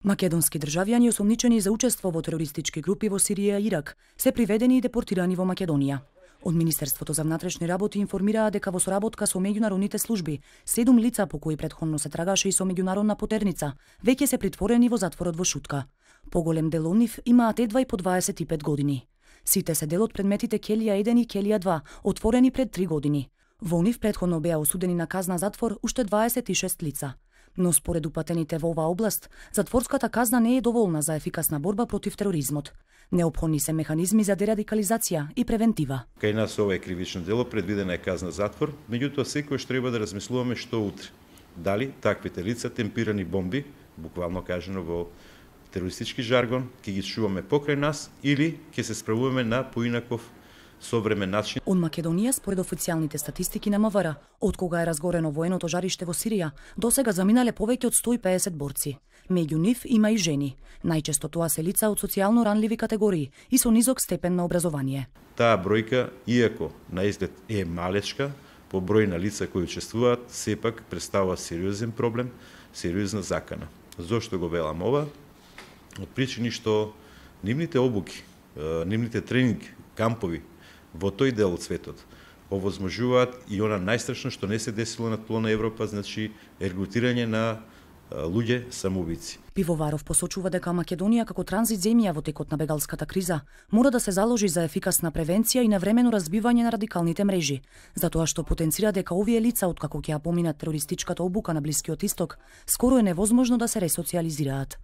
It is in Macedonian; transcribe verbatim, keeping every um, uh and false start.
Македонски државјани осомничени за учество во терористички групи во Сирија и Ирак се приведени и депортирани во Македонија. Од Министерството за внатрешни работи информираа дека во соработка со меѓународните служби, седум лица по кои претходно се трагаше и со меѓународна потерница, веќе се притворени во затворот во Шутка. Поголем дел од нив имаат едва и по дваесет и пет години. Сите се дел од предметите Келија еден и Келија два, отворени пред три години. Во нив претходно беа осудени на казна затвор уште дваесет и шест лица. Но според упатените во оваа област, затворската казна не е доволна за ефикасна борба против тероризмот. Неопходни се механизми за дерадикализација и превентива. Кај нас ова е кривично дело, предвидена е казна затвор, меѓутоа секојаш треба да размислуваме што утре. Дали таквите лица темпирани бомби, буквално кажано во терористички жаргон, ќе ги чуваме покрај нас или ќе се справуваме на поинаков современ начин. Од Македонија, според официјалните статистики на МВР, од кога е разгорено военото жариште во Сирија, досега заминале повеќе од сто и педесет борци. Меѓу нив има и жени. Најчесто тоа се лица од социјално ранливи категории и со низок степен на образование. Таа бројка, иако на изглед е малечка, по број на лица кои учествуваат, сепак представува сериозен проблем, сериозна закана. Зошто го велам ова? Од причини што нивните обуки, нивните тренинг, кампови во тој дел од светот овозможуваат и она најстрашно што не се десило на тло на Европа, значи регрутирање на луѓе самоубици. Пивоваров посочува дека Македонија како транзит земја во текот на бегалската криза мора да се заложи за ефикасна превенција и навремено разбивање на радикалните мрежи, затоа што потенцира дека овие лица откако ќе ја поминат терористичката обука на Блискиот Исток, скоро е невозможно да се ресоциализираат.